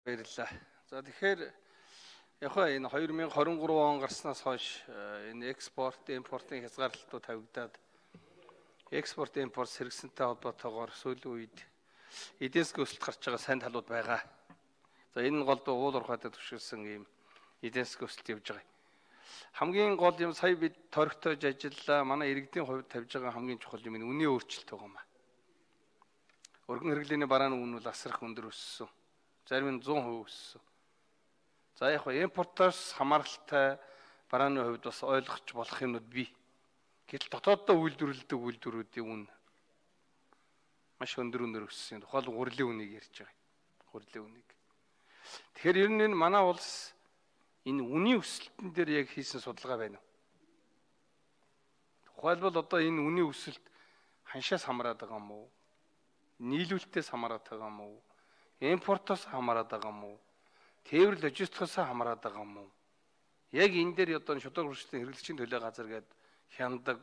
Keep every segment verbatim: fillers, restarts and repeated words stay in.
Баярлалаа. За тэгэхээр яг энэ two thousand twenty-three он гарснаас хойш энэ экспорт, импортын хязгаарлалтууд тавигдаад экспорт, импорт сэргсэнтэй холбоотойгоор сүүлийн үед эдийн засгийн өсөлт гарч байгаа сайн талууд байгаа. За энэ нь голдуу уул уурхайд төвшилсэн ийм эдийн засгийн өсөлт явж байгаа. Хамгийн гол юм сая бид торгтойж ажиллаа. Манай иргэдийн хувьд тавьж байгаа хамгийн чухал юм нь үнийн өөрчлөлт байгаа юм а. Өргөн хэрэглээний барааны үн бол асрах өндөр өссөн. Зарим нь one hundred percent өссөн. За яг хөө импортоос хамааралтай барааны хувьд бас ойлгож болох юмуд бий. Гэтэл дотооддоо үйлдвэрлэдэг үйлдвэрүүдийн үн маш өндөр өндөр өссөн. Тухайл гурилын үнийг ярьж байгаа. Гурилын үнийг. Тэгэхээр ер нь энэ манай улс энэ үнийн өсөлтөн дээр яг хийсэн судалгаа байна уу? Тухайлбал одоо энэ үнийн өсөлт ханшаас хамаарат байгаа юм уу? Нийлүүлэлтээс хамаарат байгаа юм уу? Импортоос хамаарат байгаа юм уу? Тээвэр логистикоос хамаарат байгаа юм уу? Яг энэ дээр одоо шударга хурцлын хэрэглэгчийн төлөө газар гээд хяндаг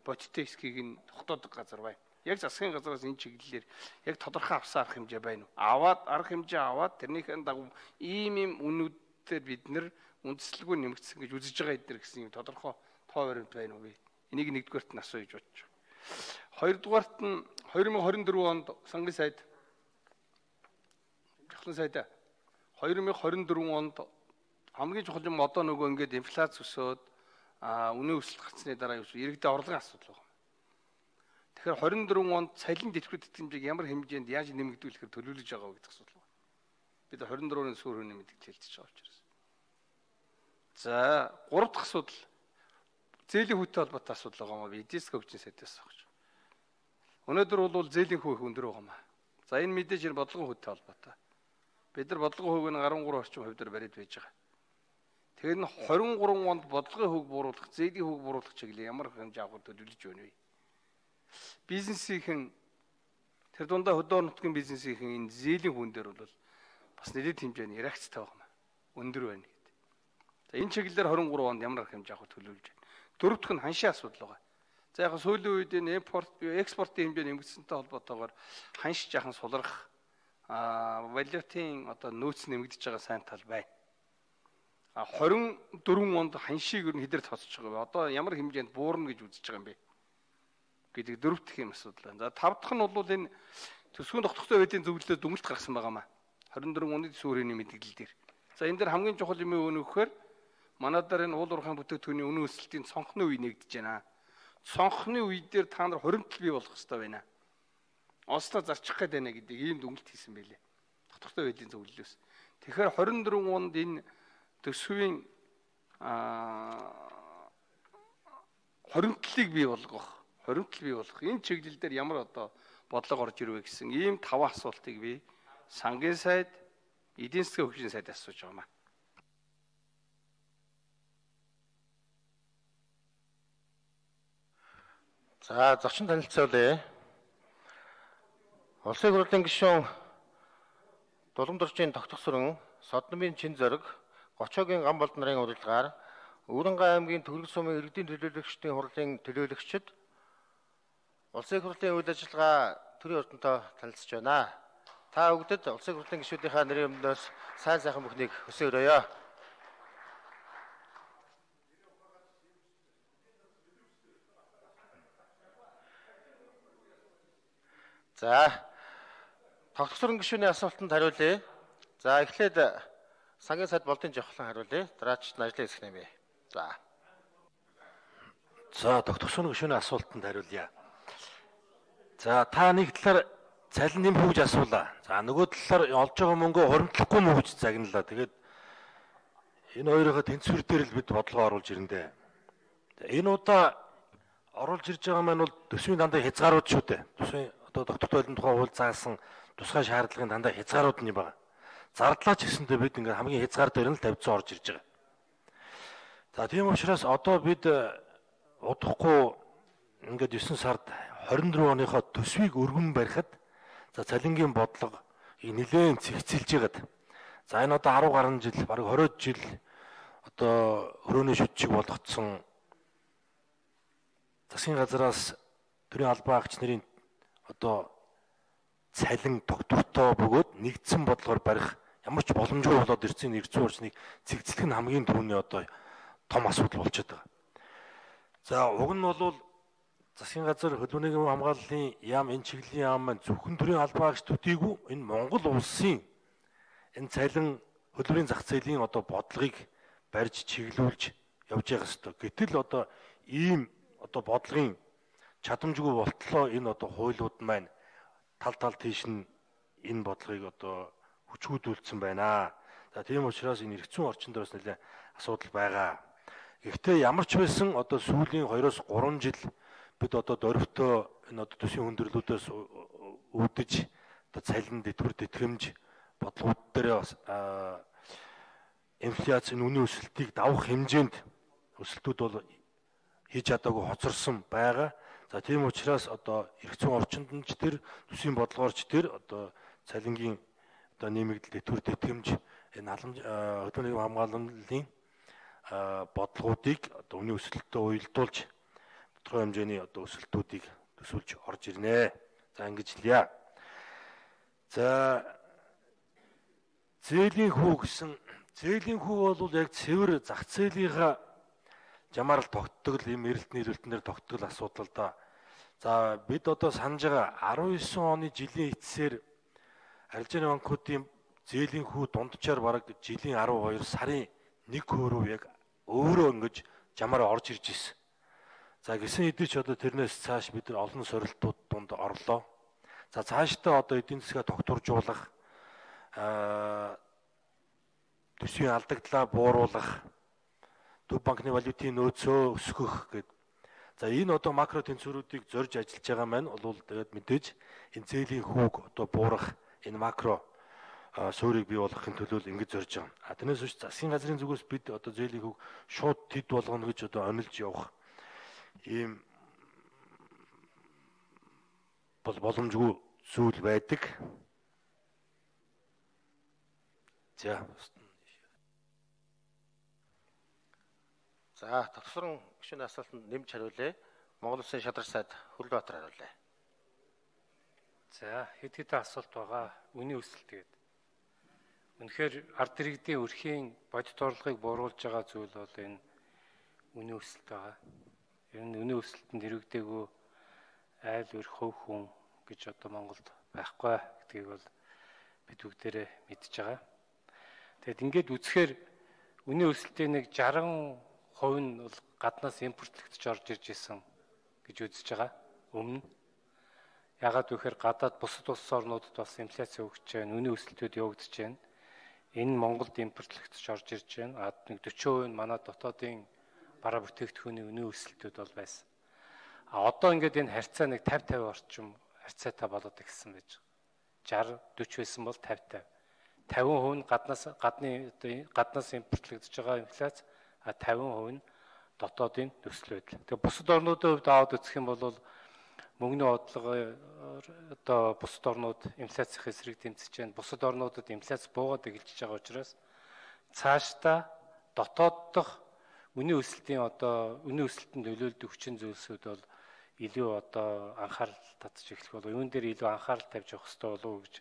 бодиттой хэсгийг нь тогтоодог газар байна. Яг засгийн газраас энэ чиглэлээр яг тодорхой авсан арга хэмжээ байна уу? Аваад арга хэмжээ аваад тэрнийхэн дагуу ийм ийм үнүүдээр бид нэр үндэслэлгүй нэмэгдсэн гэж үзэж байгаа эдгээр гэсэн юм тодорхой тоо баримт байна уу? Энийг нэгдүгээрт нь асууж бодож байгаа. Хоёрдугаарт нь two thousand twenty-four онд сангийн сайд жахлан сайдаа two thousand twenty-four онд хамгийн чухал юм одоо нөгөө ингээд инфляц өсөөд а үнийн өсөлт гарсны дараа юу иргэдийн орлогын асуудал байна. Тэгэхээр twenty-four онд цалин дэвших тэтгэмжийг ямар хэмжээнд яаж нэмэгдүүлэхээр төлөвлөж байгаа вэ гэдэг асуудал байна. Бид twenty-four-ын суур үнийн мэдээлэл хэлж байгаа учраас. За гурав дахь асуудал зээлийн хүүтэй холбоотой асуудал байгаа юм. Эдийн засгийн хөгжлийн сайдаас авах. Өнөөдөр бол зээлийн хүү их өндөр байгаа юм. За энэ мэдээж энэ бодлогын хүүтэй холбоотой. Бид нар бодлогын хүүг нь thirty-three орчим хувьд бариад байж байгаа. Тэгэхээр нь twenty-three онд бодлогын хүүг бууруулах, зээлийн хүүг бууруулах чиглэл ямар хэмжээ авах төлөвлөж байна вэ? Бизнесийн тэр дундаа хөдөө нутгийн бизнесийн энэ зээлийн хүүн дээр бол бас нэлээд хэмжээний реакцтай байгаа юм. Өндөр байна гэдэг. За энэ чиглэлээр twenty-three онд ямар хэмжээ авах төлөвлөж байна. Дөрөвдөх нь ханшийн асуудал байгаа. За яг сүүлийн үед энэ импорт, экспортын хэмжээ нэмэгдсэнтэй холбоотойгоор ханш жаахан сулрах а валютын одоо нөөц нэмэгдэж байгаа сайн тал байна. А twenty-four онд ханшийг ер нь хэдээр тооцож байгаа вэ? Одоо ямар хэмжээнд буурна гэж үзэж байгаа юм бэ? Гэдэг дөрөвдөх юм асуудал байна. За тав дахь нь бол энэ төсвийн тогтвортой байдлын зөвлөлөөс дүнэлт гаргасан байгаа маа. twenty-four оны төсвөрийн мэдээлэл дээр. За энэ дээр хамгийн чухал юм юу нөхөр манай дээр энэ уул уурхайн бүтээгдэхүүний үнийн өсөлтийн цонхны үе нэгдэж байна. Цонхны үе дээр та нар хуримтлал бий болох хэрэгтэй байна. Ослоо зарчих гээд байна гэдэг ийм дүнэлт хийсэн байлээ. Тогтвортой байдлын зөвлөлөөс. Тэгэхээр twenty-four онд энэ төсвийн хуримтлалыг бий болгох, хуримтлал бий болгох энэ чиглэл дээр ямар одоо бодлого орж ирвэ гэсэн ийм таван асуултыг би сангийн сайд, эдийн засгийн хөгжлийн сайд асууж байгаа юм. За зочин танилцуулъя. Улсын хурлын гишүүн Дуламжрын тогтгосрон Содномын чин зориг Гочоогийн ган болд нарын урилгаар Өвөрнгай аймгийн Төгөлг сумын иргэдийн төлөөлөгчдийн хурлын төлөөлөгчд улсын хурлын үйл ажиллагаа төрийн ордонтой танилцж байна. Та бүгдэд улсын хурлын гишүүдийнхаа нэрийн өмнөөс сайн сайхан бүхнийг хүсье өрөөё. За тогтворын гишүүний асуултанд хариулъя. За эхлээд сангийн сайд болдын жавхлан хариулъя. Дараач нь ажлын хэсэг нэмье. За. За тогтворын гишүүний асуултанд хариулъя. За та нэг талаар цалин нэм хөгж асуулаа. За нөгөө талаар олж байгаа мөнгөө хуримтлахгүй мөнгө гэж загналаа. Тэгээд энэ хоёроо тэнцвэр дээр л бид бодлого оруулж ирэндээ. Энэ удаа оруулж ирж байгаа маань бол төсвийн дандаа хязгаарууд шүү дээ. Төсвийн одоо доктортой байлын тухай хууль заасан тусгай шаардлагын дандаа хязгаарууд нь байна. Зардлаач гэсэндээ бид ингээ хамгийн хязгаар дээр нь л тавьцсан орж ирж байгаа. За тийм учраас одоо бид удахгүй ингээд nine сард twenty-four оныхоо төсвийг өргөн барихад за цалингийн бодлого нэлээд цэгцэлж байгаад. За энэ одоо ten гаруй жил, бараг twenty жил одоо хөрөөний шүтчиг болгоцсон засгийн газраас төрийн албан агч нарын одоо цалин тогтвортой бөгөөд нэгдсэн бодлогоор барих ямар ч боломжгүй болоод ирсэн эрх зүйн орчныг цэгцлэх нь хамгийн түрүүний одоо том асуудал болчиход байгаа. За уг нь бол засгийн газар хөдөлмөрийн хамгааллын яам энэ чиглэлийн яам маань зөвхөн төрийн албаа гэж төдийгүй энэ Монгол улсын энэ цалин хөдөлмөрийн зах зээлийн одоо бодлогыг барьж чиглүүлж явж байгаа хэвээр. Гэтэл одоо ийм одоо бодлогын чадамжгүй болтлоо энэ одоо хуулиуд маань тал тал тийш нь энэ бодлогыг одоо хүчгүүдүүлсэн байна. За тийм учраас энэ эрх зүйн орчин дээр бас нэлээд асуудал байгаа. Гэхдээ ямар ч байсан одоо сүүлийн хоёроос гурван жил бид одоо дөрвтөө энэ одоо төсвийн хүндрэлүүдээс үүдэж одоо цалин дэтгэр тэтгэмж бодлогууд дээр бас инфляцийн үнийн өсөлтийг давах хэмжээнд өсөлтүүд бол хийж чадаагүй хоцорсон байгаа. За тийм учраас одоо эрх зүйн орчинд нь ч тэр төсвийн бодлогоорч тэр одоо цалингийн одоо нэмэгдэл дэтгэр тэтгэмж энэ халамж хөдөлмөрийн хамгааллын бодлогуудыг одоо үнийн өсөлтөд уялдуулж тодорхой хэмжээний одоо өсөлтүүдийг төсөөлж орж ирнэ. За ингэж хэлье. За зээлийн хүү гэсэн зээлийн хүү бол яг цэвэр зах зээлийнхаа жамаар л тогтдог юм эрэлт нийлүүлэлтнэр тогтдог асуудал да. За бид одоо санаж байгаа арван девять оны жилийн эцсээр арилжааны банкуудын зээлийн хүү дунджаар бараг жилийн арван хоёр сарын нэг хувь яг өөрөө ингэж жамаар орж ирж ирсэн. За гисэн хэдий ч одоо тэрнээс цааш бид нар олон сорилтууд дунд орлоо. За цаашдаа одоо эдийн засгаа тогтворжуулах, аа төсвийн алдагдлаа бууруулах, төв банкны валютын нөөцөө өсгөх гэдэг. За энэ одоо макро тэнцвэрүүдийг зорж ажиллаж байгаа маань бол тэгээд мэдээж энэ зээлийн хүүг одоо буурах энэ макро суурийг бий болгохын төлөө ингэж зорж байгаа. А тэрнээс үүш засгийн газрын зүгээс бид одоо зээлийн хүүг шууд тэд болгоно гэж одоо онилж явах ийм бол боломжгүй зүйл байдаг. За За тогтворон гишүүний асуултанд нэмж хариулъя. Монгол Улсын шадар сайд Хүрлбаатар хариулъя. За хэд хэдэн асуулт байгаа. Үнийн өсөлт гэдэг. Үнэхээр ард иргэдийн өрхийн бодит орлогыг бууруулж байгаа зүйл бол энэ үнийн өсөлт байгаа. Ер нь үнийн өсөлтөнд хэрэгдээгүй айл өрх хөв хүн гэж одоо Монголд байхгүй гэдгийг бол бид бүгдээрээ мэдж байгаа. Тэгэд ингээд үзэхээр үнийн өсөлтийн нэг жарган хувь нь бол гаднаас импортлогдож орж ирж исэн гэж үзэж байгаа. Өмнө ягаад гэхээр гадаад бусад улс орнуудад бас инфляци өгч байна, үнийн өсөлтүүд явагдаж байна. Энэ Монголд импортлогдож орж ирж байна. А нэг forty percent нь манай дотоодын бараа бүтээгдэхүүний үнийн өсөлтүүд бол байсан. А одоо ингээд энэ харьцаа нэг fifty fifty орчим харьцаатай болоод ирсэн байж байгаа. sixty forty байсан бол fifty fifty. fifty percent нь гаднаас гадны гаднаас импортлогдож байгаа инфляци, а fifty percent нь дотоодын нөхцөл байдал. Тэгээ бусад орнуудын хувьд аваад үзэх юм бол мөнгөний бодлого одоо бусад орнууд инфляцийн эсрэг тэмцэж байна. Бусад орнуудад инфляци буугаад эхэлж байгаа учраас цаашдаа дотоод дахь үнийн өсөлтийн одоо үнийн өсөлтөнд нөлөөлдөг хүчин зүйлсүүд бол илүү одоо анхаарал татж эхлэх болов. Юун дээр илүү анхаарал тавьж явах хэрэгтэй болов гэж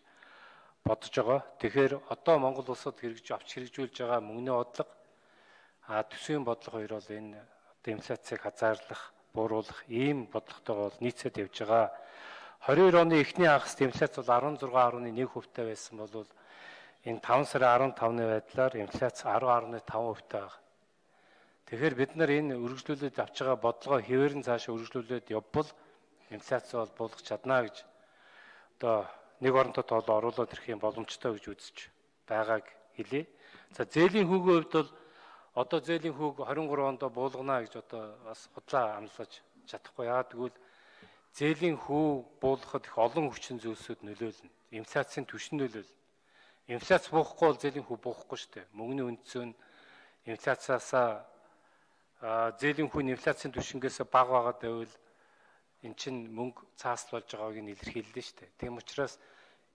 бодож байгаа. Тэгэхээр одоо Монгол улсад хэрэгж авч хэрэгжүүлж байгаа мөнгөний бодлого а төсвийн бодлого хоёр бол энэ одоо инфляцийг хязгаарлах, бууруулах ийм бодлоготойгоо нийцээд явж байгаа. twenty-two оны эхний хагас инфляци бол sixteen point one percent байсан бол энэ five сарын fifteen-ны байдлаар инфляци ten point five percent байгаа. Тэгэхээр бид нар энэ үргэлжлүүлээд авч байгаа бодлогоо хэвээрэн цаашаа үргэлжлүүлээд явбал инфляци бол буулгах чадна гэж одоо нэг оронтой тоолоо оруулаад ирэх юм боломжтой гэж үзэж байгааг хэлье. За зээлийн хүүгийн хувьд бол одоо зээлийн хүүг twenty-three онд буулгана гэж одоо бас худлаа амлаж чадахгүй. Яагаад гэвэл зээлийн хүү буулгахад их олон хүчин зүйлсүүд нөлөөлнө. Инфляцийн түвшин нөлөөлнө. Инфляци буухгүй бол зээлийн хүү буухгүй шүү дээ. Мөнгөний үнэтсөнд инфляциасаа зээлийн хүүний инфляцийн түвшингээс бага байгаад байвал эн чинь мөнгө цаасл болж байгааг нь илэрхийллээ шүү дээ. Тийм учраас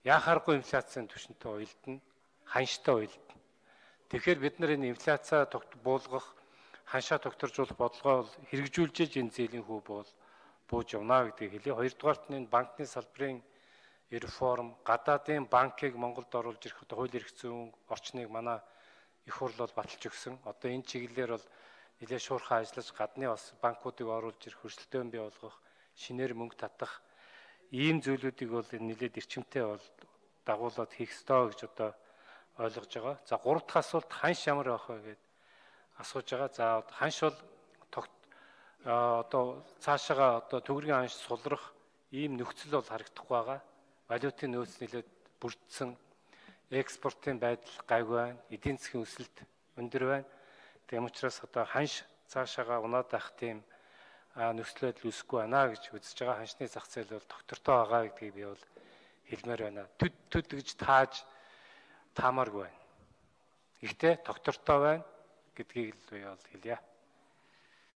яхааргүй инфляцийн түвшинтэй уялдана, ханштай уялдана. Тэгэхээр бид нар энэ инфляцаа буулгах, ханшаа тогтворжуулах бодлогоо хэрэгжүүлж энэ зээлийн хүү бол бууж явна гэдгийг хэлье. Хоёрдугаарт нь банкны салбарын реформ, гадаадын банкыг Монголд оруулж ирэх одоо хууль эрх зүйн орчныг манай их хурл бол баталж өгсөн. Одоо энэ чиглэлээр бол нэлээд шуурхай ажиллаж гадны бас банкуудыг оруулж ирэх, хөрсөлтөөн бий болгох, шинээр мөнгө татах ийм зүйлүүдийг бол нэлээд эрчимтэй бол дагуулад хийх ёстой гэж одоо ойлгож байгаа. За гурав дахь асуулт ханш ямар байх вэ гэд асууж байгаа. За ханш бол одоо цаашаага одоо төгрөгийн ханш сулрах ийм нөхцөл бол харагдахгүй байгаа. Валютын нөөц нэлээд бүрдсэн, экспортын байдал гайгүй байна, эдийн засгийн өсөлт өндөр байна. Тийм учраас одоо ханш цаашаага унаад байх тийм нөхцөл байдал үүсэхгүй байна гэж үзэж байгаа. Ханшны зах зээл бол доктортой байгаа гэдгийг би бол хэлмээр байна. Төд төд гэж тааж таамааргүй байна. Гэхдээ доктортой байна гэдгийг л би бол хэлье.